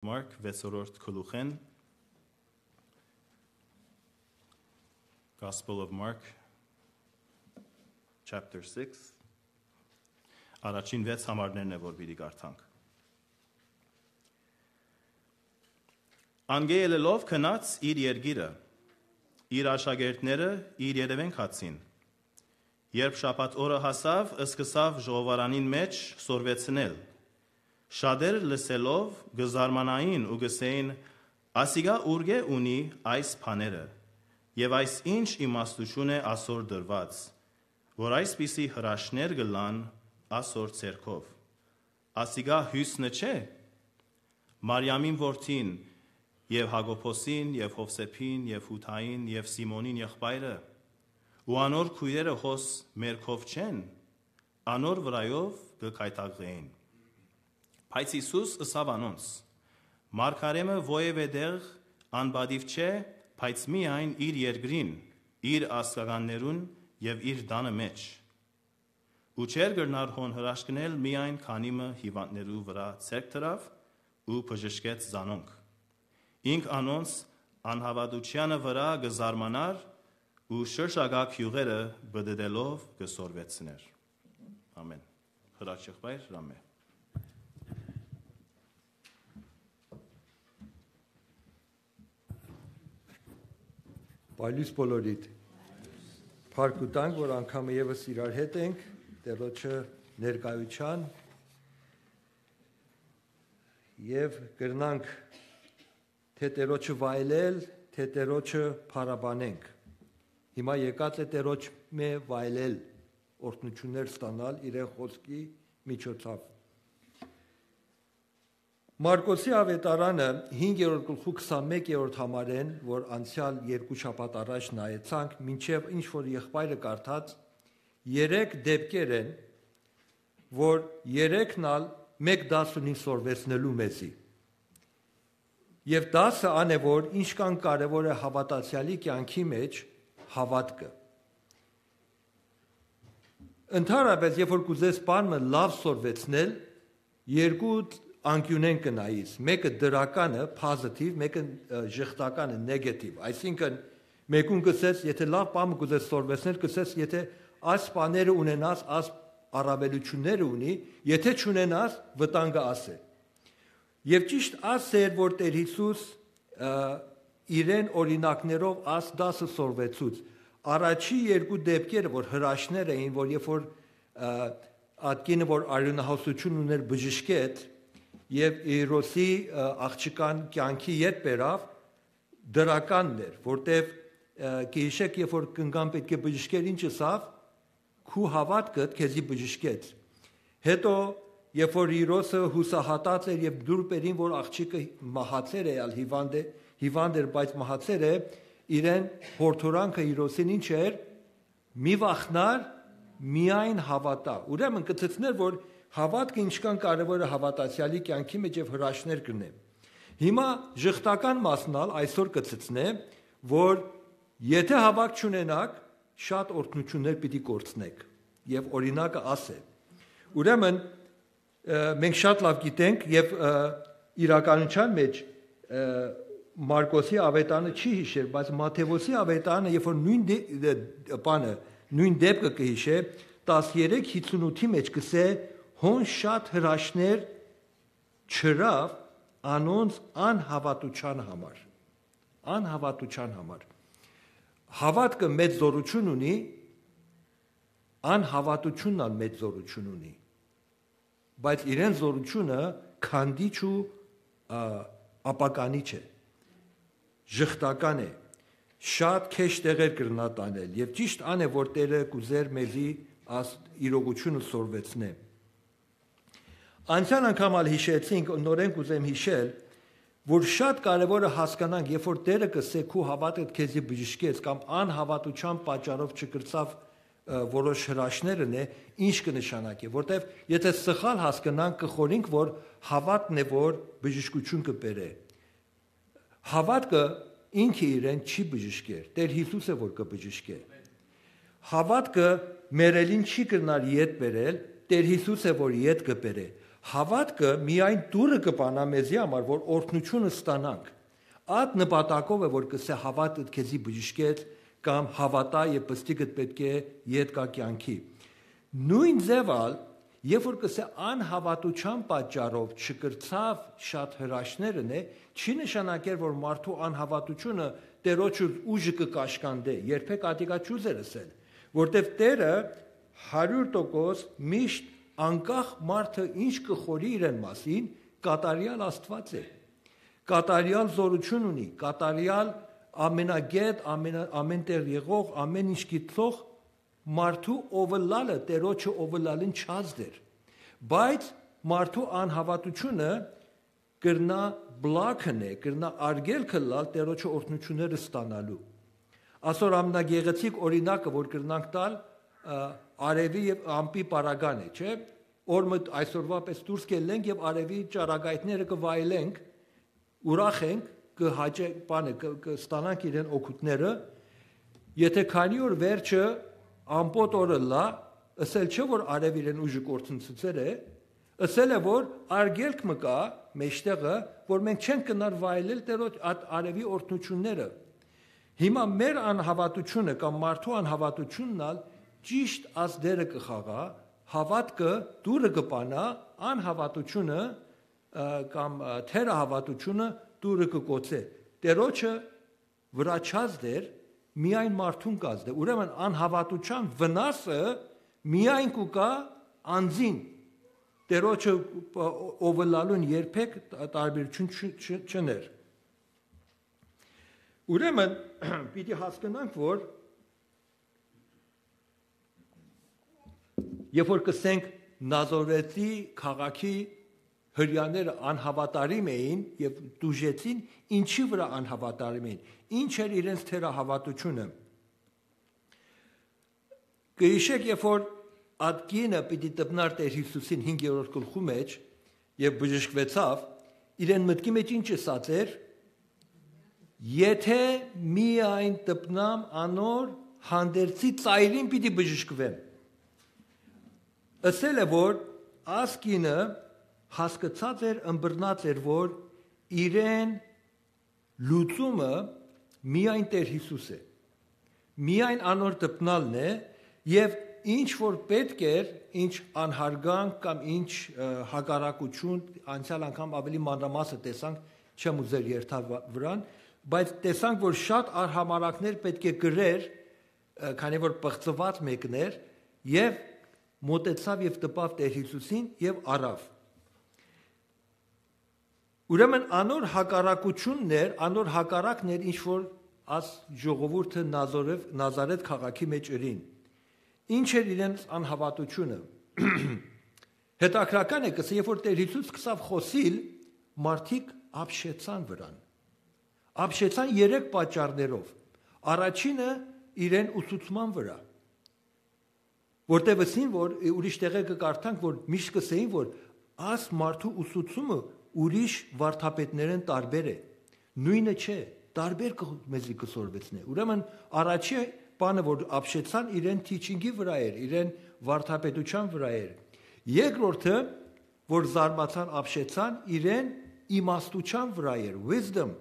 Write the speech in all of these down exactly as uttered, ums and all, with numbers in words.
Mark, վեցերորդ գլուխէն, Gospel of Mark, chapter six, առաջին վեց համարներն է, որ պիտի կարդանք։ Անկէ ելելով գնաց իր երկիրը, իր աշակերտները իր երեւեն գացին։ Երբ շաբաթ օրը հասաւ, սկսաւ ժողովարանին մէջ սորվեցնել։ Շատեր լսելով կը զարմանային ու կ'ըսէին. «Ասիկա ուրկէ՞ ունի այս բաները, եւ այս ի՞նչ իմաստութիւն է ասոր տրուած, որ այսպիսի հրաշքներ կ'ըլլան ասոր ձեռքով։ Ասիկա յուսնը չէ՞, Մարիամին որդին, եւ Յակոբոսին, եւ Յովսէփին, եւ Յուդային, եւ Սիմոնին եղբայրը, ու անոր քոյրերը հոս մեր քով չե՞ն, անոր վրայով կը գայթակղէին»։ Բայց Յիսուս ըսաւ անոնց. «Մարգարէ մը որեւէ տեղ անպատիւ չէ, բայց միայն իր երկրին, իր ազգականներուն եւ իր տանը մէջ»։ Ու չէր կրնար հոն հրաշքնել, միայն քանի մը հիւանդներու վրայ ձեռք դրաւ ու բժշկեց զանոնք։ Ինք անոնց անհաւատութեանը վրայ կը զարմանար ու շրջակայ գիւղերը պտտելով կը սորվեցնէր։ Ամէն։ Հրաչ եղբայր Ռամէ։ Պայլույս բոլորիդ։ Փառք ու տանք, որ անգամը եւս իրար հետ ենք Տերոջը ներկայութեան եւ կրնանք թէ Տերոջը վայելել, թէ Տերոջը փառաբանենք։ Հիմա եկած է Տերոջ մէ վայելել, օրհնություններ ստանալ իրեն խօսքի միջոցով։ Մարկոսի աւետարանը հինգերորդ գլխու քսանմէկերորդ համարէն, որ անցեալ երկու շաբաթ առաջ նայեցանք, մինչեւ ինչ որ եղբայրը կարդաց, երեք դեպքեր են, որ երեքն ալ մէկ դաս ունին սորվեցնելու մեզի։ Եւ դասը ան է, որ ինչքան կարեւոր է հաւատացեալի կեանքի մէջ հաւատքը։ Ընդհանրապէս, երբ որ կ'ուզես բան մը լաւ սորվեցնել, երկու անկիւնէն կը նայիս, մէկը դրականը, positive, մէկը, ը, ժխտականը, negative, այսինքն մէկուն կ'ըսես, եթէ լաւ բան մը կ'ուզես սորվեցնել, կ'ըսես, եթէ այս բաները ունենաս, այս առաւելութիւնները ունի, եթէ չունենաս, վտանգը աս է։ Եւ ճիշտ աս էր, որ Տեր Յիսուս, ը, իրեն օրինակներով աս դասը սորվեցուց։ Առաջի երկու դեպքերը, որ հրաշներ էին, որ երբ որ, ը, ատկինը, որ արիւնահոսութիւն ուներ, բժշկեց, եւ Իրոսի, ը, աղջկան կեանքի ետ բերաւ, դրականն էր, որտեւ, ը, կը յիշեք, երբ որ կնկան պէտք է բժշկեր, ինչ ըսաւ, «Քու հաւատքդ քեզի բժշկեց»։ Հետո, երբ որ Իրոսը յուսահատած էր եւ դուր բերին, որ աղջիկը մահացեր է, ալ հիվանդ է, հիվանդ էր, բայց մահացեր է, իրեն յորդորանքը Իրոսին ինչ էր, «Մի վախնար, միայն հաւատա»։ Ուրեմն կը ցցնէր, որ հաւատքը ինչքան կարեւոր է հաւատացեալի կեանքի մէջ եւ հրաշներ կ'ընէ։ Հիմա ժխտական մասն ալ այսօր կը ցցնէ, որ եթէ հաւատք չունենաք, շատ օրհնություններ պիտի կորցնեք։ Եւ օրինակը աս է։ Ուրեմն, ը, մենք շատ լաւ գիտենք եւ, ը, իրականության մէջ, ը, Մարկոսի աւետանը չի յիշեր, բայց Մատթեոսի աւետանը, երբ որ նոյն դե-, դե-, բանը, նոյն դեպքը կը յիշէ, տասներեք հիցունութի մէջ կ'ըսէ, հոն շատ հրաշներ չըրաւ անոնց անհաւատութեան համար։ Անհաւատութեան համար։ Հաւատքը մեծ զօրութիւն ունի, անհաւատութիւնն ալ մեծ զօրութիւն ունի, բայց իրեն զօրութիւնը քանդիչ ու, ա, ապականիչ է, ժխտական է, շատ քեշ տեղեր կրնայ տանել, եւ ճիշտ ան է, որ Տերը կ'ուզէր մեզի աս իրողութիւնը սորվեցնէ։ Անցեալ անգամ ալ յիշեցինք, նորէն կ'ուզեմ յիշել, որ շատ կարեւոր է հասկանանք, երբ որ Տերը կ'ըսէ, «Քու հաւատքդ քեզի բժշկեց», կամ անհաւատութեան պատճառով չկրցաւ, ը, որոշ հրաշներ ընէ, ինչ կը նշանակէ, որտեւ եթէ սխալ հասկնանք, կը խորհինք, որ հաւատքն է, որ բժշկութիւն կը բերէ։ Հաւատքը ինքը իրեն չի բժշկեր, Տեր Յիսուս է, որ կը բժշկէ։ Հաւատքը մեռելին չի կրնար ետ բերել, Տեր Յիսուս է, որ ետ կը բերէ։ Հաւատքը միայն դուռը կը բանայ մեզի համար, որ օրհնութիւնը ստանանք։ Այդ նպատակով է, որ կ'ըսէ. «Հաւատքդ քեզի բժշկեց», կամ «Հաւատա եւ պստիկդ պէտք է յետ գայ կեանքի»։ Նոյն ձեւ ալ, երբ որ կ'ըսէ. «Անհաւատութեան պատճառով չկրցաւ շատ հրաշքներ ընէ», չի նշանակեր, որ մարդու անհաւատութիւնը Տէրոջը ուժը կը կաշկանդէ։ Երբեք ատիկա չուզեր ըսել, որտեւ Տէրը հարիւր տոկոս միշտ, անկախ մարդը ինչ կը խորհի իրեն մասին, կատարեալ Աստուած է։ Կատարեալ զօրութիւն ունի, կատարեալ ամենագէտ, ամենա-, ամեն տեղ եղող, ամեն ինչ գիտող մարդու ովը լալը, Տէրոջը ովը լալին չազդ էր։ Բայց մարդու անհաւատութիւնը կրնայ պլակ ընէ, կրնայ արգելք ըլլալ Տէրոջը օրհնութիւնները ստանալու։ Ասոր ամենագեղեցիկ օրինակը, որ կրնանք տալ, ը, արեւի եւ ամպի պարագան է, չէ՞։ Օր մը այսօրուա պես դուրս կ'ելլենք եւ արեւի ճառագայթները կը վայելենք, ուրախ ենք, կը հաճե-, բանը, կը, կը ստանանք իրեն օգուտները, եթե քանի օր վերջը ամպոտ օր ըլլայ, ըսել չէ, որ արեւ իրեն ուժը կորցնցուցեր է, ըսել է, որ արգելք մը կայ մեջտեղը, որ մենք չենք կրնար վայելել Տէրոջ այդ արեւի օրհնութիւնները։ Հիմա մեր անհաւատութիւնը կամ մարդու անհաւատութիւնն ալ ճիշդ այս դերը կը խաղայ, հաւատքը դուռը կը բանայ, անհաւատութիւնը, ը, կամ, ը, թերահաւատութիւնը դուռը կը կոչէ։ Տէրոջը վրաչած դեր միայն մարդուն կազդէ։ Ուրեմն անհաւատութեան վնասը միայն կու գայ անձին։ Տէրոջը, ը, ովը լալուն երբեք տ-, տարբերություն չ-, չ-, չներ։ Ուրեմն պիտի հասկնանք, որ երբ որ կ'ըսենք Նազորեթի քաղաքի հրեաները անհաւատարիմ էին եւ տուժեցին, ինչի՞ վրայ անհաւատարիմ էին, ինչ էր իրենց թերահաւատութիւնը։ Կը յիշէք, երբ որ այդ կինը պիտի դպնար Տէր Յիսուսին հինգերորդ գլխու մեջ եւ բժշկուեցաւ, իրեն մտքի մեջ ինչ ըսած էր. «Եթէ միայն դպնամ անոր, հանդերձի ծայրին պիտի բժշկուեմ»։ Ըսել է, որ այս կինը հասկցած էր, ըմբռնած էր, որ իրեն լուծումը միայն Տէր Յիսուս է։ Միայն անոր դպնալն է, եւ ինչ որ պէտք էր, ինչ անհարգանք կամ ինչ, ը, հակառակություն, անցեալ անգամ աւելի մանրամասը տեսանք, չեմ ուզեր երթալ վա-, վրան, բայց տեսանք, որ շատ արհամարհանքներ պէտք է կրեր, ը, քանի որ պղծուած մեկն էր, եւ մօտեցաւ եւ տպաւ Տէր Յիսուսին եւ առաւ։ Ուրեմն անոր հակառակությունն էր, անոր հակառակն էր, ինչ որ աս ժողովուրդը Նազորեթ, Նազարեթ քաղաքի մեջ ըրին։ Ինչ էր իրենց անհաւատությունը։ Հետաքրական է, կսե, երբ որ Տէր Յիսուս սկսաւ խօսիլ, մարդիկ ապշեցան վրան։ Ապշեցան երեք պատճառներով։ Առաջինը իրեն ուսուցման վրայ, որտեղ ըսին, որ, ուրիշ տեղեր կը կարդանք, որ միշտ կ'ըսէին, որ աս մարդու ուսուցումը ուրիշ վարդապետներէն տարբեր է։ Նոյնը չէ, տարբեր կը, մեզի կը սորվեցնէ։ Ուրեմն առաջի բանը, որ ապշեցան, իրեն teaching-ի վրայ էր, իրեն վարդապետության վրայ էր։ Երկրորդը, որ զարմացան, ապշեցան, իրեն իմաստության վրայ էր, wisdom,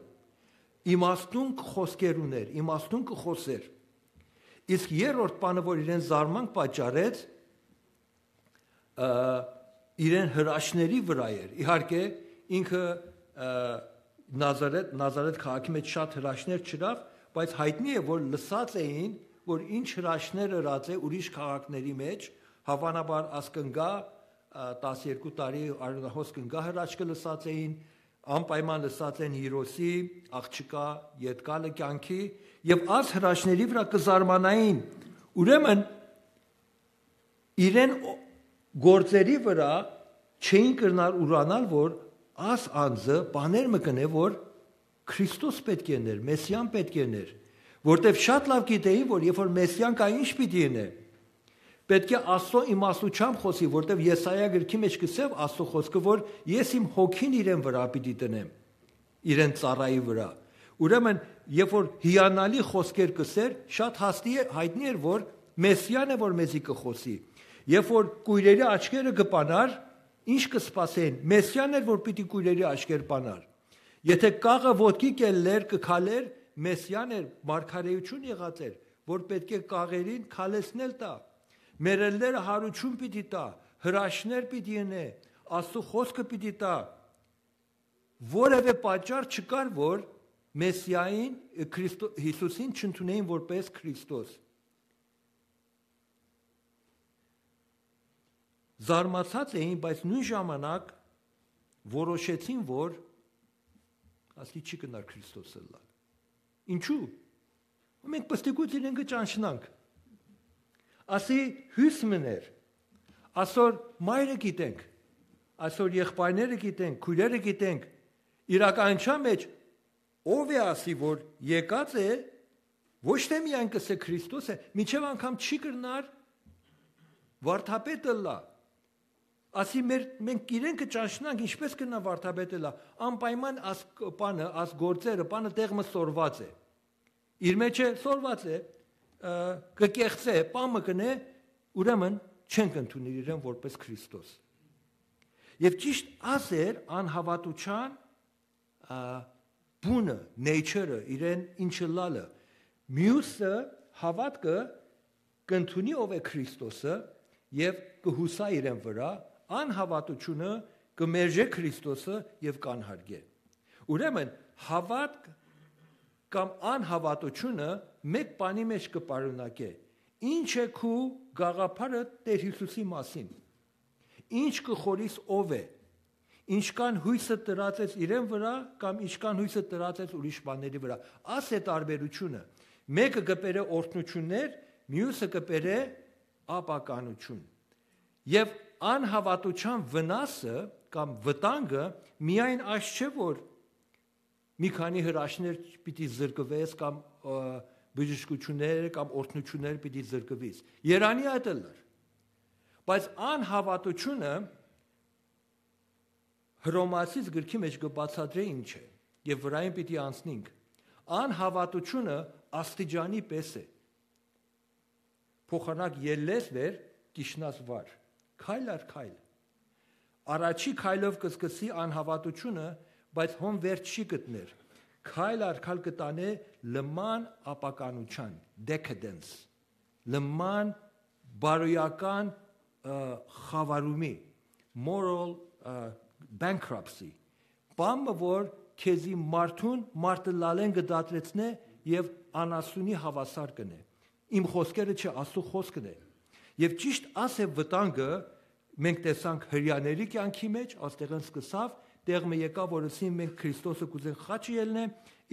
իմաստուն խոսքեր ուներ, իմաստուն կը խօսէր։ Իսկ երրորդ բանը, որ իրեն զարմանք պատճառեց, ը, իրեն հրաշքների վրայ էր։ Իհարկե, ինքը, ը, Նազարեթ, Նազարեթ քաղաքի մեջ շատ հրաշքներ չըրաւ, բայց յայտնի է, որ լսած էին, որ ինչ հրաշքներ ըրած է ուրիշ քաղաքների մեջ, հաւանաբար աս կ'ընկայ, ը, տասներկու տարի արիւնահոս կ'ընկայ հրաշքը լսած էին, անպայման լսած են Հիրոսի աղջկայ յետկալը կեանքի, եւ աս հրաշքների վրայ կը զարմանային։ Ուրեմն իրեն օ-, գործերի վրայ չէին կրնար ուրանալ, որ աս անձը բաներ մը կ'ընէ, որ Քրիստոս պէտք է ըներ, Մեսիան պէտք է ըներ, որտեւ շատ լաւ գիտէին, որ երբ որ Մեսիան կայ, ինչ պիտի ընէ։ Պէտք է Աստծո իմաստությամբ խօսի, որտեւ Եսայա գրքի մեջ կ'ըսէ Աստծո խօսքը, որ ես իմ հոգին իրեն վրայ պիտի դնեմ, իրեն ծառայի վրայ։ Ուրեմն, երբ որ հիանալի խօսքեր կ'ըսէր, շատ հաստի է, յայտնի էր, որ Մեսիան է, որ մեզի կը խօսի։ Երբ որ կոյրերի աչքերը կը բանար, ինչ կը սպասէին։ Մեսիան էր, որ պիտի կոյրերի աչքեր բանար։ Եթե կաղը ոտքի կ'ելլէր, կը քալէր, Մեսիան էր, մարգարէութիւն եղած էր, որ պէտք է կաղերին քալեցնել տայ։ Մեռելները յարութիւն պիտի տայ, հրաշքներ պիտի ընէ, Աստուծոյ խօսքը պիտի տայ։ Որեւէ պատճառ չկար, որ Մեսիային, Քրիստո-, Յիսուսին չընդունէին որպէս Քրիստոս։ Զարմացած էին, բայց նոյն ժամանակ որոշեցին, որ ասի չի կնար Քրիստոս ըլլալ։ Ինչու՞։ Մենք պստիկուց իրեն կը ճանչնանք։ Ասի հոյս մըն էր, այսօր մայրը գիտենք, այսօր եղբայրները գիտենք, քոյրերը գիտենք, իրականության մեջ ով է ասի, որ եկած է, ոչ թե միայն կ'ըսէ Քրիստոս է, մինչեւ անգամ չի կրնար վարդապետ ըլլայ։ Ասի մեր, մենք իրեն կը ճանչնանք, ինչպես կրնայ վարդապետ ըլլայ, անպայման աս կ-, բանը, աս գործերը, բանը տեղ մը սորված է։ Իր մեջ է, սորված է, ը, կը կեղծէ, բան մը կ'ընէ, ուրեմն չենք ընդունիր իրեն որպես Քրիստոս։ Եւ ճիշտ աս էր անհաւատութեան, ա, բունը, nature-ը, իրեն ինչ ըլլալը։ Միւսը, հաւատքը, կ'ընդունի ով է Քրիստոսը եւ կը յուսայ իրեն վրայ, անհաւատութիւնը կը մերժէ Քրիստոսը եւ կ'անհարգէ։ Ուրեմն, հաւատք կամ անհաւատութիւնը մէկ բանի մէջ կը պարունակէ. ինչ է քու գաղափարը Տէր Յիսուսի մասին, ինչ կը խորհիս ով է, ինչքան յոյսը դրած ես իրեն վրայ կամ ինչքան յոյսը դրած ես ուրիշ բաների վրայ։ Աս է տարբերութիւնը. մէկը կը բերէ օրհնութիւններ, միւսը կը բերէ ապականութիւն։ Եւ անհաւատութեան վնասը կամ վտանգը միայն այս չէ, որ մի քանի հրաշքներ պիտի զրկուես կամ, ը, բժշկութիւններ կամ օրհնութիւններ պիտի զրկուիս։ Երանի այդ ըլլար։ Բայց անհաւատութիւնը Հռոմացիս գրքի մէջ կը բացատրէ ինչ է, եւ վրայէն պիտի անցնինք։ Անհաւատութիւնը աստիճանի պէս է։ Փոխանակ ելլես վեր, կ'իջնաս վար, քայլ առ քայլ։ Առաջի քայլով կը սկսի անհաւատութիւնը, բայց հոն վերջ չի գտներ։ Քայլ առ քայլ կը տանէ լման ապականութեան, decadence, լման բարոյական, ը, խավարումի, moral, ը, bankruptcy, բան մը, որ քեզի մարդուն մարդը լալեն կը դադրեցնէ եւ անասունի հաւասար կ'ընէ։ Իմ խօսքերը չէ, Աստուծոյ խօսքն է։ Եւ ճիշտ աս է վտանգը, մենք տեսանք հրեաների կեանքի մէջ, աստեղէն սկսաւ, տեղ մը եկաւ, որ ըսին, մենք Քրիստոսը կ'ուզենք խաչը ելնե,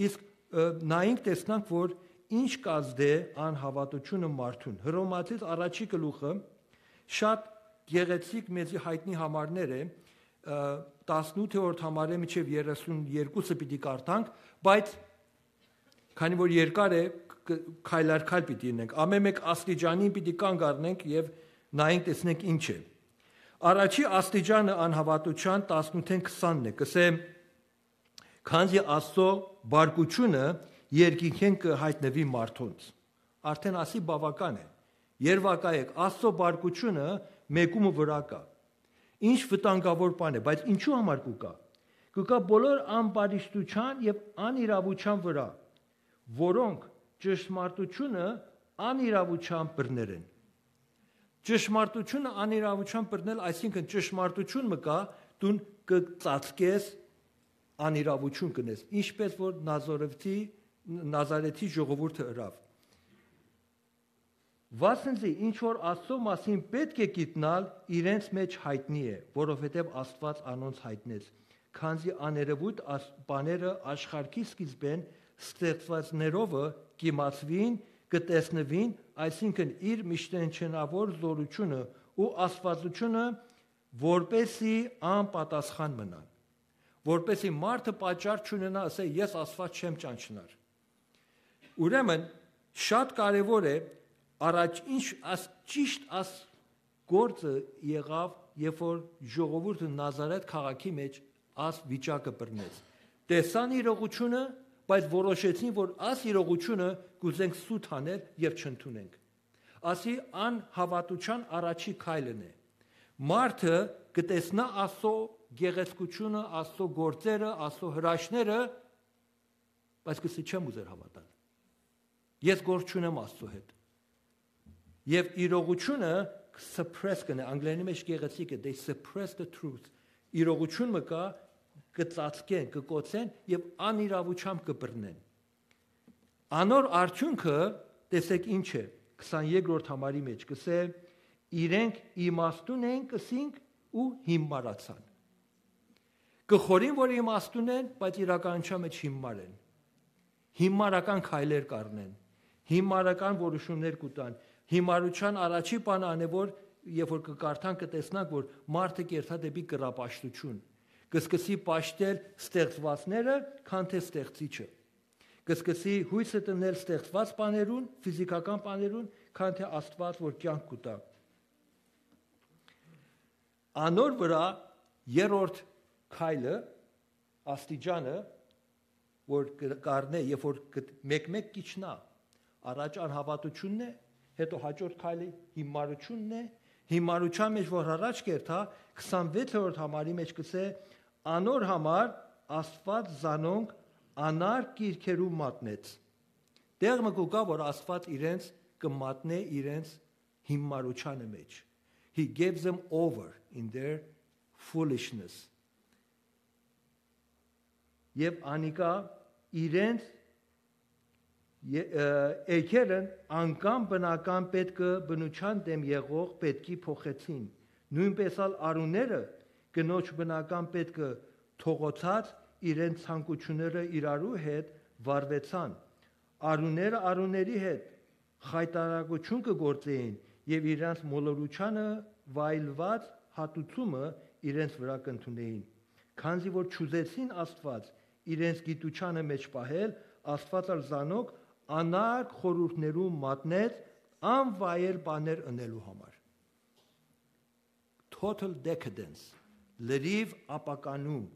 իսկ, ը, նայինք, տեսնանք, որ ինչ կ'ազդէ անհաւատութիւնը մարդուն։ Հռոմացիս առաջի գլուխը շատ գեղեցիկ, մեզի յայտնի համարներ է, ը, տասնութերորդ համարէ մինչեւ երեսուն երկուսը պիտի կարդանք, բայց քանի որ երկար է, կ-, քայլ առ քայլ պիտի ինենք, ամէն մէկ աստիճանին պիտի կանգ առնենք եւ նայենք, տեսնենք ինչ է։ Առաջի աստիճանը անհաւատութեան տասնութեն քսանն է, կ'ըսէ. «Քանզի Աստուծոյ բարկութիւնը երկինքէն կը յայտնուի մարդոնց»։ Արդէն ասի բաւական է։ Երեւակայեք, Աստուծոյ բարկութիւնը մէկու մը վրայ կայ։ Ինչ վտանգաւոր բան է, բայց ինչու համար կու կայ։ Կու կայ բոլոր ամբարիշտութեան եւ անիրաւութեան վրայ, որոնք ճշմարտութիւնը անիրաւութեան բռներ են։ Ճշմարտութիւնը անիրաւութեան բռնել, այսինքն ճշմարտութիւն մը կայ, դուն կը ծածկես, անիրաւութիւն կ'ընես, ինչպես որ Նազարեթի, Նազարեթի ժողովուրդը ըրաւ։ Վասն զի ինչ որ Աստուծոյ մասին պէտք է գիտնալ, իրենց մէջ յայտնի է, որովհետեւ Աստուած անոնց յայտնեց, քանզի աներեւոյթ աս-, բաները աշխարհի սկիզբէն ստեղծուածներովը կ'իմացուին, կը տեսնուին, այսինքն իր միշտենչենաւոր զօրութիւնը ու աստվածութիւնը, որպեսզի անպատասխան մնան, որպեսզի մարդը պատճառ չունենայ, ասէ, «Ես Աստուած չեմ ճանչնար»։ Ուրեմն, շատ կարեւոր է, առաջ ինչ աս, ճիշտ աս գործը եղաւ, երբ որ ժողովուրդը Նազարեթ քաղաքի մէջ աս վիճակը բռնեց։ Տեսան իրողությունը, բայց որոշեցին, որ աս իրողությունը կ'ուզենք սուտ հանել եւ չընդունենք։ Ասի անհաւատութեան առաջի քայլն է։ Մարդը կը տեսնայ Աստուծոյ գեղեցկութիւնը, Աստուծոյ գործերը, Աստուծոյ հրաշքները, բայց կ'ըսի՝ «Չեմ ուզեր հաւատալ։ Ես գործ չունեմ Աստուծոյ հետ»։ Եւ իրողութիւնը suppress կ'ընէ, անգլերէնի մէջ գեղեցիկ է, they suppress the truth։ Իրողութիւն մը կայ, կը ծածկեն, կը կոծեն եւ անիրաւութեամբ կը բռնեն։ Անոր արդիւնքը, տեսէք ինչ է, քսաներկրորդ համարի մէջ կ'ըսէ. «Իրենք իմաստուն են, կ'ըսինք, ու հիմարացան»։ Կը խորին, որ իմաստուն են, բայց իրականութեան մէջ հիմար են։ Հիմարական քայլեր կ'առնեն, հիմարական որոշումներ կու տան։ Հիմարութեան առաջին բանը ան է, որ երբ որ կը կարդանք, կը տեսնանք, որ մարդը կ'երթայ դէպի կռապաշտութիւն։ Կը սկսի պաշտել ստեղծուածները, քան թէ ստեղծիչը։ Կը սկսի յոյսը դնել ստեղծուած բաներուն, ֆիզիքական բաներուն, քան թէ Աստուած որ կեանք կու տայ։ Անոր վրայ երրորդ քայլը, աստիճանը, որ կը-, կ'առնէ, երբ որ կը-, մէկ-մէկ կ'իջնայ, առաջ անհաւատութիւնն է, հետո յաջորդ քայլը հիմարութիւնն է, հիմարութեան մէջ որ առաջ կ'երթայ, քսանվեցերորդ համարի մէջ կ'ըսէ. «Անոր համար Աստուած զանոնք անարգ կիրքերու մատնեց»։ Տեղ մը կու գայ, որ Աստուած իրենց կը մատնէ իրենց հիմարութեանը մէջ։ He gave them over in their foolishness. Եւ անիկա իրենց ե-, ը, էգերն անկամ բնական պետքը բնութեան դէմ եղող պետքի փոխեցին։ Նոյնպէս ալ արուները կնոջ բնական պետքը թողոցած իրենց ցանկութիւնները իրարու հետ վարուեցան։ Արուները արուների հետ խայտարակութիւն կը գործէին եւ իրանց մոլորութեանը վայելուած հատուցումը իրենց վրայ կ'ընդունէին։ Քանզի որ չուզեցին Աստուած իրենց գիտութեանը մէջ պահել, Աստուած ալ զանոնք անարգ խորհուրդներու մատնեց անվայել բաներ ընելու համար։ Total decadence, լրիւ ապականում,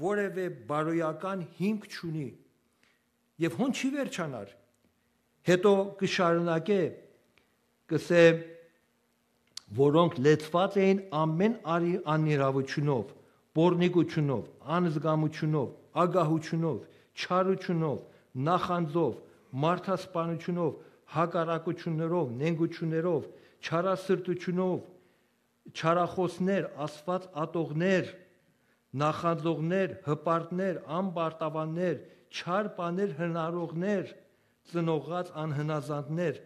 որեւէ բարոյական հիմք չունի։ Եւ հոն չի վերջանար։ Հետո կը շարունակէ, կ'ըսէ, որոնք լեցուած էին ամէն արի անիրաւութիւնով, պոռնիկութիւնով, անզգամութիւնով, ագահութիւնով, չարութիւնով, նախանձով, մարդասպանութիւնով, հակառակութիւններով, նենգութիւններով, չարասրտութիւնով, չարախօսներ, Աստուած ատողներ, նախանձողներ, հպարտներ, անպարտաւաններ, չար բաներ հնարողներ, ծնողած անհնազանդներ,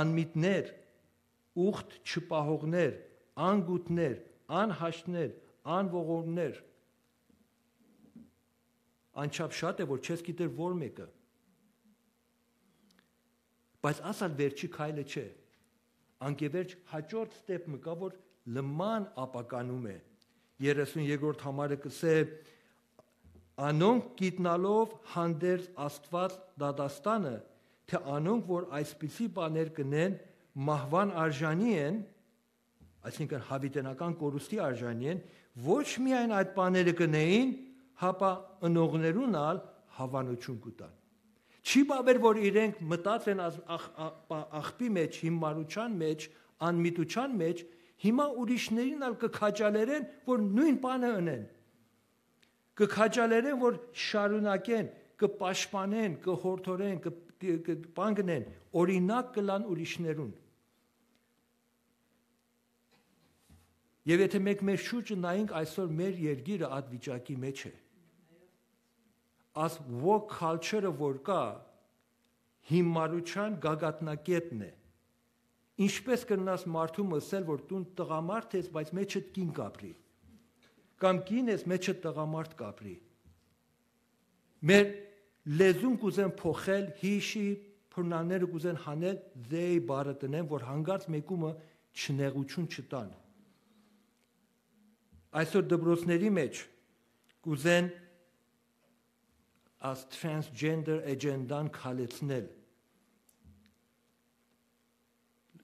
անմիտներ, ուխտ չպահողներ, անգութներ, անհաշտներ, անողորմներ։ Անչափ շատ է, որ չես գիտեր որ մէկը։ Բայց ասալ վերջի քայլը չէ։ Անկեվերջ յաջորդ step մը կայ, որ լման ապականում է։ Երեսուն երկրորդ համարը կ'ըսէ. «Անոնք գիտնալով հանդերձ Աստուած դատաստանը, թէ անոնք, որ այսպիսի բաներ կ'ընեն, մահուան արժանի են», այսինքն՝ յաւիտենական կորուստի արժանի են, ոչ միայն այդ բաները կ'ընէին, հապա ընողներուն ալ հաւանութիւն կու տան։ Չի բաւեր, որ իրենք մտած են ախ-, ախ-, ախ-, աղբի մէջ, հիմարութեան մէջ, անմիտութեան մէջ, հիմա ուրիշներին ալ կը քաջալերեն, որ նոյն բանը ընեն։ Կը քաջալերեն, որ շարունակեն, կը պաշտպանեն, կը յորդորեն, կը, կը, կը պանգնեն, օրինակ կ'ըլլան ուրիշներուն։ Եւ եթէ մենք մեր շուրջը նայենք, այսօր մեր երկիրը այդ վիճակի մէջ է։ Այս woke culture-ը որ կայ, հիմարութեան գագաթնակետն է։ Ինչպե՞ս կրնաս մարդուն ըսել, որ դուն տղամարդ ես, բայց մեջդ կին կ'ապրի, կամ կին ես, մեջդ տղամարդ կ'ապրի։ Մեր լեզուն կ'ուզեն փոխել, հիշի, բռնանները կ'ուզեն հանել, they բառը տնեն, որ հանկարծ մեկումը չնեղություն չտան։ Այսօր դպրոցների մէջ կ'ուզեն այս transgender agenda-ն քալեցնել։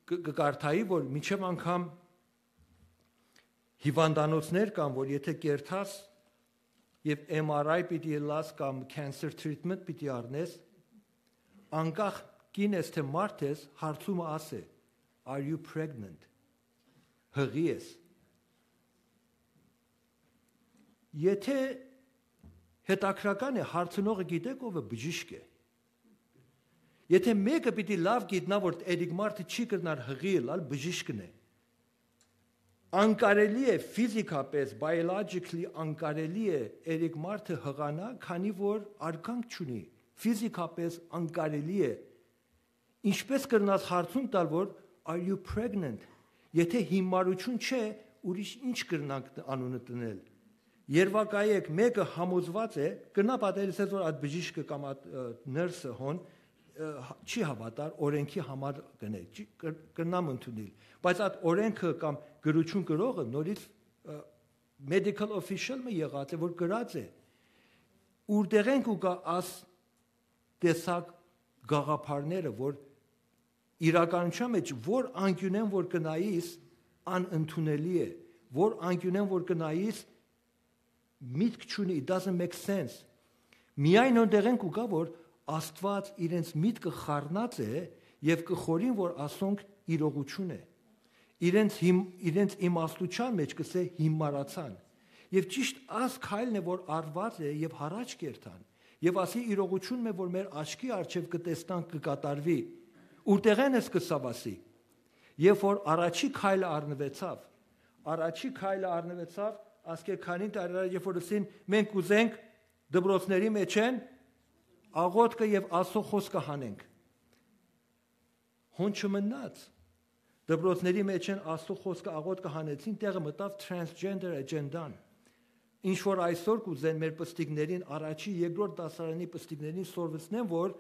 Կը, կը կարդայի, որ մինչեւ անգամ հիվանդանոցներ կան, որ եթէ կերթաս եւ M R I պիտի ըլլաս կամ cancer treatment պիտի առնես, անկախ կին ես թէ մարդ ես, հարցումը ասէ, "Are you pregnant?" Հղի ես։ Եթե հետաքրական է, հարցնողը գիտեք ով է, բժիշկ է։ Եթե մեկը պիտի լաւ գիտնայ, որ երեք մարդը չի կրնար հղի ըլլալ, բժիշկն է։ Անկարելի է, ֆիզիկապես, biologically անկարելի է, երեք մարդը հղանայ, քանի որ արգանք չունի, ֆիզիկապես անկարելի է։ Ինչպե՞ս կրնաս հարցում տալ, որ «Are you pregnant»։ Եթե հիմարություն չէ, ուրիշ ինչ կրնանք անունը տնել։ Երբակայեք, մեկը համոզված է, կրնայ պատերսել, որ այդ բժիշկը կամ այդ, ը, նըրսը հոն, ը, հա-, չի հաւատար, օրենքի համար կնե, չի, կր-, կրնամ ընդունել։ Բայց այդ օրենքը կամ գրություն գրողը նորից, ը, medical official մը եղած է, որ գրած է, ուրտեղեն կու գայ աս տեսակ գաղափարները, որ իրականության մեջ որ անկիւնեն որ կնայիս, անընդունելի է, որ անկիւնեն որ կնայիս, միտք չունի, it doesn't make sense։ Միայն յոն տեղեն կու գայ, որ Աստուած իրենց միտքը խառնած է եւ կը խորին, որ ասոնք իրողություն է։ Իրենց հիմ-, իրենց իմաստության մեջ կսե հիմարացան։ Եւ ճիշտ աս քայլն է, որ արված է եւ յառաջ կերթան։ Եւ ասի իրողությունն է, որ մեր աչքի առջեւ կը տեսնանք, կը կատարուի։ Ուրտեղեն ես կսաւ ասի։ Երբ որ առաջի քայլը առնուեցաւ, առաջի քայլը առնուեցաւ, ասկէ քանի տարի առաջ, երբ որ ըսին, «Մենք կ'ուզենք դպրոցների մեջ են աղոթքը եւ Աստծո խօսքը հանենք»։ Հոն չմնաց։ Դպրոցների մեջ են Աստծո խօսքը աղոթքը հանեցին, տեղը մտաւ transgender agenda-ն։ Ինչ որ այսօր կ'ուզեն մեր պստիկներին, առաջի, երկրորդ դասարանի պստիկներին սորվեցնեն, որ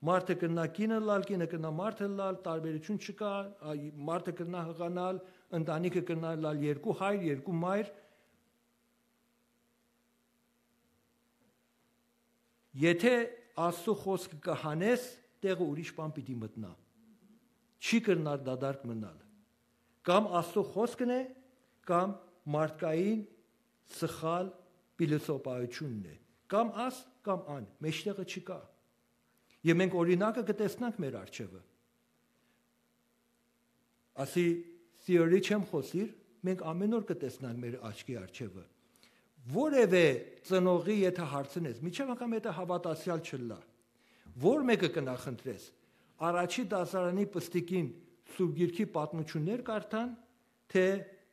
մարդը կրնայ կին ըլլալ, կինը կրնայ մարդ ըլլալ, տարբերություն չկայ, այ, մարդը կրնայ հղանալ, ընտանիքը կրնայ ըլլալ երկու հայր, երկու մայր։ Եթե Աստծո խօսքը կը հանես, տեղը ուրիշ բան պիտի մտնայ։ Չի կրնար դատարկ մնալ։ Կամ Աստծո խօսքն է, կամ մարդկային սխալ փիլիսոփայությունն է։ Կամ աս, կամ ան, մեջտեղը չկայ։ Եւ մենք օրինակը կը տեսնանք մեր առջեւը։ Ասի, theory չեմ խօսիր, մենք ամեն օր կը տեսնանք մեր աչքի առջեւը։ Որևէ ծնողի եթե հարցնես, միջև անգամ եթե հաւատացեալ չըլլայ, ո՞ր մէկը կը նախընտրես, առաջի դասարանի պստիկին Սուրբ Գիրքի պատմություններ կարդան, թե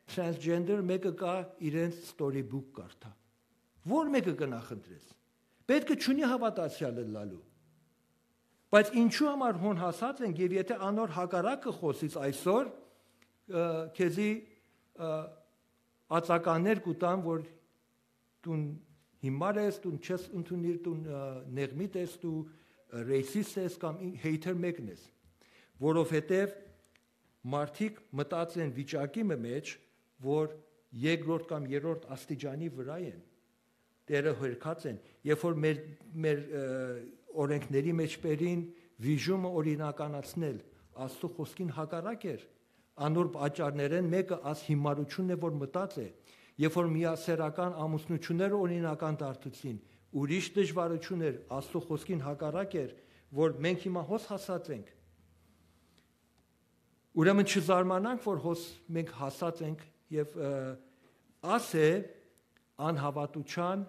transgender մէկը կայ իրենց storybook կարդայ։ Ո՞ր մէկը կը նախընտրես։ Պէտքը չունի հաւատացեալ ըլլալու։ Բայց ինչու համար հոն հասած ենք, եւ եթե անոր հակառակը խօսից այսօր, ը, քեզի, ը, ածականներ կու տան, որ դուն հիմար ես, դուն չես ընդունիր, դուն, ը, նեղմիտ ես, դու, ը, racist ես կամ ին-, hater մեկն ես, որովհետեւ մարդիկ մտած են վիճակի մը մեջ, որ երկրորդ կամ երրորդ աստիճանի վրայ են, տեղը հերքած են, երբ որ մեր, մեր, ը, օրենքների մեջ բերին վիժումը օրինականացնել, Աստծո խոսքին հակառակ էր, անոր պատճառներէն մէկը աս հիմարությունն է, որ մտած է, երբ որ միասեռական ամուսնությունները օրինական դարձուցին, ուրիշ դժվարություն էր, Աստծո խոսքին հակառակ էր, որ մենք հիմա հոս հասած ենք։ Ուրեմն չզարմանանք, որ հոս մենք հասած ենք եւ, ը, աս է անհաւատության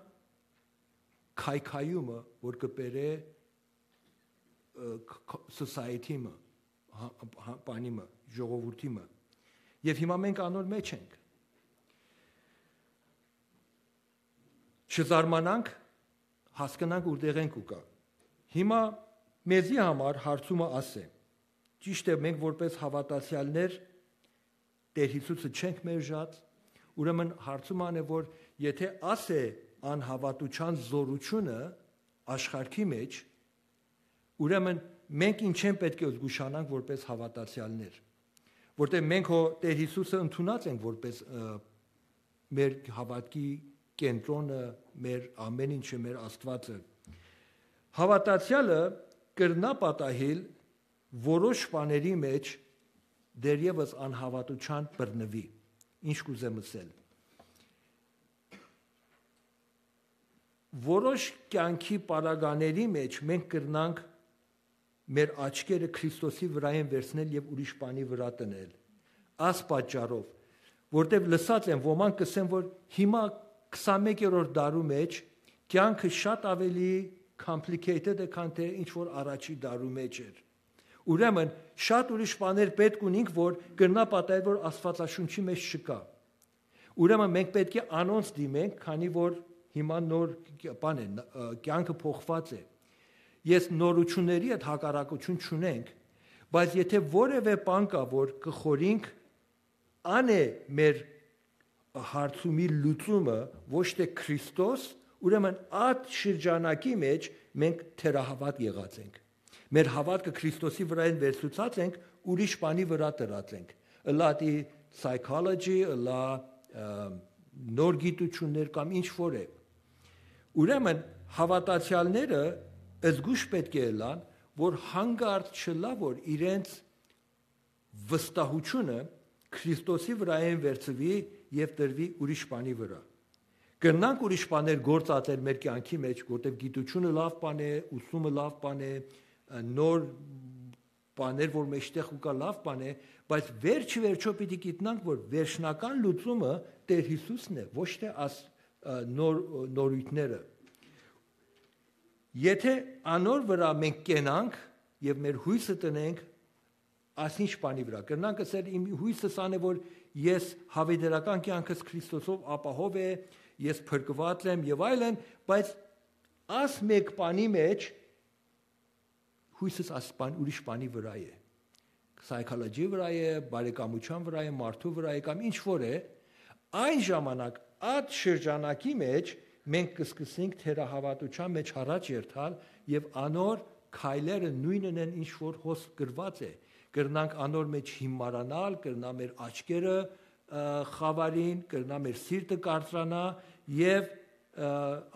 քայքայումը, որ կը բերէ, ը, ք-, ք-, society-մը, հա-, հա-, բանի մը, ժողովուրդի մը։ Եւ հիմա մենք անոր մեջ ենք։ Չզարմանանք, հասկնանք ուրտեղեն կու գայ։ Հիմա մեզի համար հարցումը աս է։ Ճիշդ է, մենք որպես հաւատացեալներ Տեր Հիսուսը չենք մերժած, ուրեմն հարցումը ան է, որ եթե աս է անհաւատության զորությունը աշխարհի մեջ, ուրեմն մենք ինչեն պէտք է զգուշանանք որպես հաւատացեալներ, որտեղ մենք հո Տեր Հիսուսը ընդունած ենք որպես, ը, մեր հաւատքի կենտրոնը, մեր ամեն ինչը, մեր Աստուածը։ Հաւատացեալը կրնայ պատահիլ որոշ բաների մեջ դեռեւս անհաւատության բռնուի։ Ինչ կ'ուզեմ ըսել։ Որոշ կեանքի պարագաների մեջ մենք կրնանք մեր աչքերը Քրիստոսի վրայէն վերցնել եւ ուրիշ բանի վրայ դնել։ Աս պատճառով, որտեւ լսած եմ ոմանք կ'ըսեն, որ հիմա քսանմեկերորդ դարու մէջ կեանքը շատ աւելի complicated է, քան թէ ինչ որ առաջի դարու մէջ էր։ Ուրեմն շատ ուրիշ բաներ պէտք ունինք, որ կրնայ պատահել, որ Աստուածաշունչի մէջ չկայ։ Ուրեմն մենք պէտք է անոնց դիմենք, քանի որ հիմա նոր կ-, բան է, ն-, ը, կեանքը փոխուած է։ Ես նորութիւնների հետ հակառակութիւն չունենք, բայց եթէ որեւէ բան կայ, որ կը խորհենք, ան է մեր հարցումի լուծումը, ոչ թէ Քրիստոս, ուրեմն այդ շրջանակի մէջ մենք թերահաւատ եղած ենք։ Մեր հաւատքը Քրիստոսի վրայէն վերցուցած ենք, ուրիշ բանի վրայ դրած ենք։ Ըլլա դի psychology, ըլլա, ը, նոր գիտութիւններ կամ ինչ որ է։ Ուրեմն հաւատացեալները զգուշ պէտք է ըլլան, որ հանկարծ չըլլայ, որ իրենց վստահութիւնը Քրիստոսի վրայէն վերցուի եւ դրուի ուրիշ բանի վրայ։ Կրնանք ուրիշ բաներ գործածել մեր կեանքի մէջ, որտեղ գիտութիւնը լաւ բան է, ուսումը լաւ բան է, ը, նոր բաներ, որ մեջտեղ ու կայ, լաւ բան է, բայց վերջը վերջոյ պիտի գիտնանք, որ վերջնական լուծումը Տէր Յիսուսն է, ոչ թէ աս, ը, նոր, նորույթները։ Եթէ անոր վրայ մենք կենանք եւ մեր յոյսը տնենք, ասինչ բանի վրայ։ Կրնանք ըսել, իմ յոյսս ան է, որ ես հաւիտենական կեանքս Քրիստոսով ապահով է, ես փրկուած եմ եւ այլն, բայց աս մէկ բանի մէջ յոյսս աս բան, ուրիշ բանի վրայ է։ Psychology վրայ է, բարեկամութեան վրայ է, մարդու վրայ է կամ ինչ որ է, այն ժամանակ, այդ շրջանակի մէջ մենք կսկսենք թերահաւատութեան մէջ առաջ երթալ եւ անոր քայլերը նոյնն են, ինչ որ հոս գրուած է։ Կրնանք անոր մէջ հիմարանալ, կրնայ մեր աչքերը, ը, խաւարին, կրնայ մեր սիրտը կարծրանայ եւ, ը,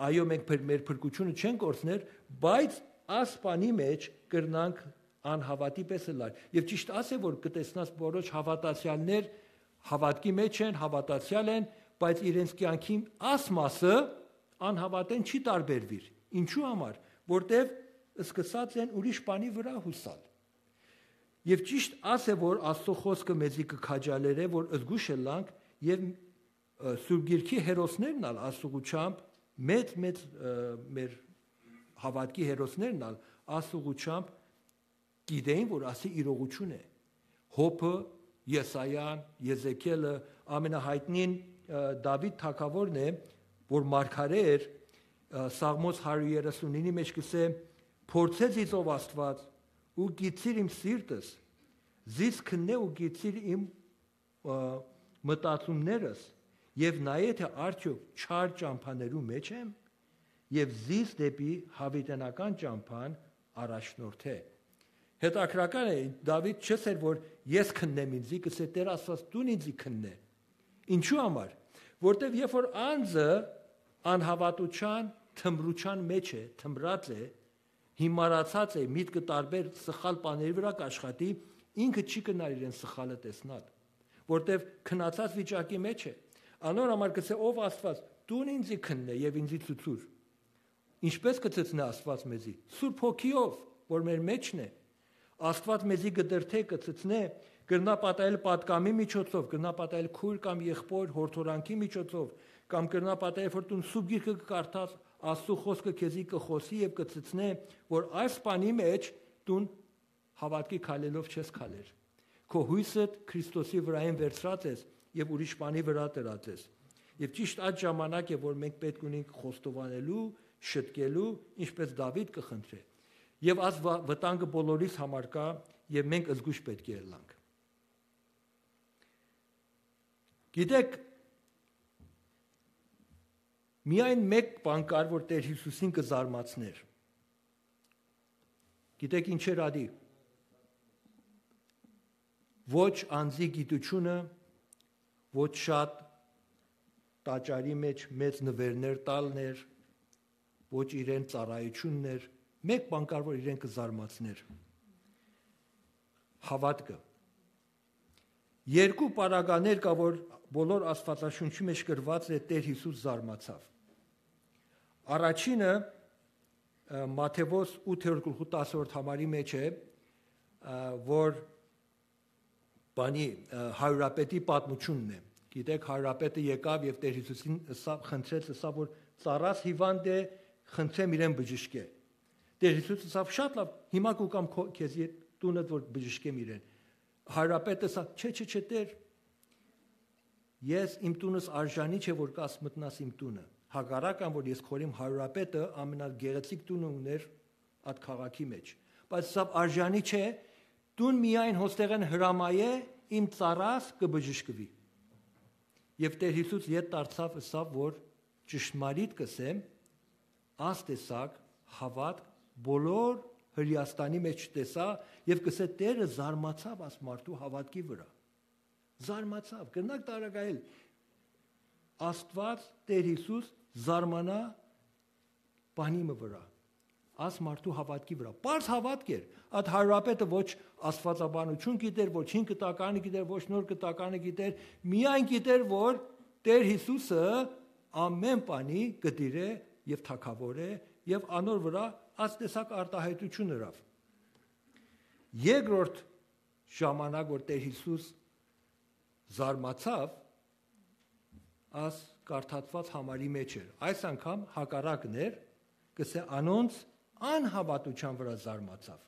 այո, մենք փր-, մեր փրկութիւնը չենք կորցներ, բայց աս բանի մէջ կրնանք անհաւատի պէս ըլլալ։ Եւ ճիշդ աս է, որ կը տեսնաս որոշ հաւատացեալներ հաւատքի մէջ են, հաւատացեալ են, բայց իրենց կեանքին աս մասը անհաւատէն չի տարբերուիր։ Ինչու համար, որտեւ սկսած են ուրիշ բանի վրայ յուսալ։ Եւ ճիշդ աս է, որ Աստուծոյ խօսքը մեզի կը քաջալերէ, որ զգուշ ըլլանք եւ, ը, Սուրբ Գիրքի հերոսներն ալ Աստուծմամբ, մեծ, մեծ, ը, մեր հաւատքի հերոսներն ալ Աստուծմամբ գիտեին, որ ասի իրողութիւն է։ Յոբը, Եսայան, Եզեկիելը, ամենահայտնին, ը, Դաւիթ թագաւորն է, որ մարգարէ էր, ը, Սաղմոս հարիւր երեսունինի մէջ կ'ըսէ. «Փորձե զիս, ով Աստուած, ու գիցիր իմ սիրտս, զիս քննէ ու գիցիր իմ, ը, մտածումներս, եւ նայէ, թէ արդեօք չար ճամբաներու մէջ եմ, եւ զիս դէպի յաւիտենական ճամբան առաջնորդէ»։ Հետաքրական է, Դաւիթ չ'ըսէր, որ ես քննեմ ինձի, կ'ըսէ, «Տէր Աստուած, դուն ինձի քննէ»։ Ինչու համար։ Որտեւ երբ որ անձը անհաւատութեան, թմրութեան մէջ է, թմրած է, հիմարացած է, միտքը տարբեր սխալ բաների վրայ կ'աշխատի, ինքը չի կրնար իրեն սխալը տեսնալ, որտեւ քնացած վիճակի մէջ է։ Անոր համար կ'ըսէ, «Ով Աստուած, դուն ինձի քննէ եւ ինձի ցուցուր»։ Ինչպէս կը ցցնէ Աստուած մեզի։ Սուրբ Հոգիով, որ մեր մէջն է։ Աստուած մեզի կը դրդէ, կը ցցնէ, կրնայ պատահել պատկամի միջոցով, կրնայ պատահել քոյր կամ եղբոր յորդորանքի միջոցով, կամ կրնայ պատահել, որ դուն Սուրբ Գիրքը կը կարդաս, Աստուծոյ խօսքը քեզի կը խօսի եւ կը ցցնէ, որ այս բանի մէջ դուն հաւատքի քայլելով չես քայլեր։ Քո յոյսդ Քրիստոսի վրայէն վերցրած ես եւ ուրիշ բանի վրայ դրած ես։ Եւ ճիշդ այդ ժամանակ է, որ մենք պէտք ունենք խոստովանելու, շտկելու, ինչպես Դաւիթ կը խնդրէ։ Եւ այս վա-, վտանգը բոլորիս համար կայ եւ մենք զգուշ պէտք է ըլլանք։ Գիտեք, միայն մէկ բան կար, որ Տէր Յիսուսին կը զարմացներ։ Գիտեք ինչ էր ադի։ Ոչ անձի գիտութիւնը, ոչ շատ տաճարի մէջ մեծ նուէրներ տալն էր, ոչ իրեն ծառայությունն էր, մէկ բան կար, որ իրեն կը զարմացներ։ Հաւատքը։ Երկու պարագաներ կայ, որ բոլոր Աստուածաշունչի մէջ գրուած է, Տէր Յիսուս զարմացաւ։ Առաջինը, ը, Մատթեոս ութերորդ գլխու տասերորդ համարի մէջ է, ը, որ Բանի, ը, հարիւրապետի պատմութիւնն է։ Գիտէք, հարիւրապետը եկաւ եւ Տէր Յիսուսին ըսաւ, խնդրեց, ըսաւ, որ «Ծառաս հիւանդ է, խնդրեմ իրեն բժշկէ»։ Տէր Յիսուս ըսաւ. «Շատ լաւ, հիմա կու կամ քո, քեզի տունդ, որ բժշկեմ իրեն»։ Հարիւրապետը ըսաւ. «Չէ, չէ, չէ, Տէր, ես իմ տունս արժանի չէ, որ կաս մտնաս իմ տունը։ Հակառակ ան, որ ես քորիմ հարիւրապետը, ամենագեղեցիկ տունը ունէր այդ քաղաքի մեջ։ Բայց ըսաւ. արժանի չէ, տուն միայն հոստեղէն հրամայէ, իմ ծառաս կը բժշկուի»։ Եւ Տէր Յիսուս ետ դարձաւ, ըսաւ, որ ճշմարիտ կ'ըսեմ, աս տեսակ հաւատք բոլոր Հրեաստանի մեջ չտեսայ, եւ կ'ըսէ, Տէրը զարմացաւ աս մարդու հաւատքի վրայ։ Զարմացաւ, կրնաք տարակայել, Աստուած, Տէր Յիսուս զարմանայ բանի մը վրայ, աս մարդու հաւատքի վրայ։ Պարզ հաւատք էր, այդ հարիւրապետը ոչ աստուածաբանութիւն գիտեր, ոչ հին կտականը գիտեր, ոչ նոր կտականը գիտեր, միայն գիտեր, որ Տէր Յիսուսը ամէն բանի կը տիրէ եւ թագաւոր է, եւ անոր վրայ այս տեսակ արտայայտութիւն ըրաւ։ Երկրորդ ժամանակ, որ Տէր Յիսուս զարմացաւ, աս կարդացուած համարի մեջ էր։ Այս անգամ հակառակն էր, կ'ըսէ, անոնց անհաւատութեան վրայ զարմացաւ։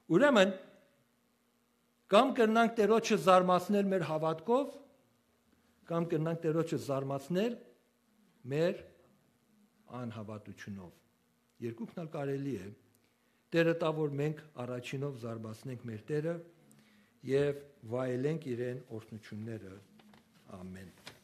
Ուրեմն, կամ կրնանք Տէրոջը զարմացնել մեր հաւատքով, կամ կրնանք Տէրոջը զարմացնել մեր անհաւատութիւնով։ Երկուքն ալ կարելի է։ Տէրը տայ, որ մենք առաջինով զարմացնենք մեր Տէրը եւ վայելենք իրեն օրհնութիւնները։ Ամէն։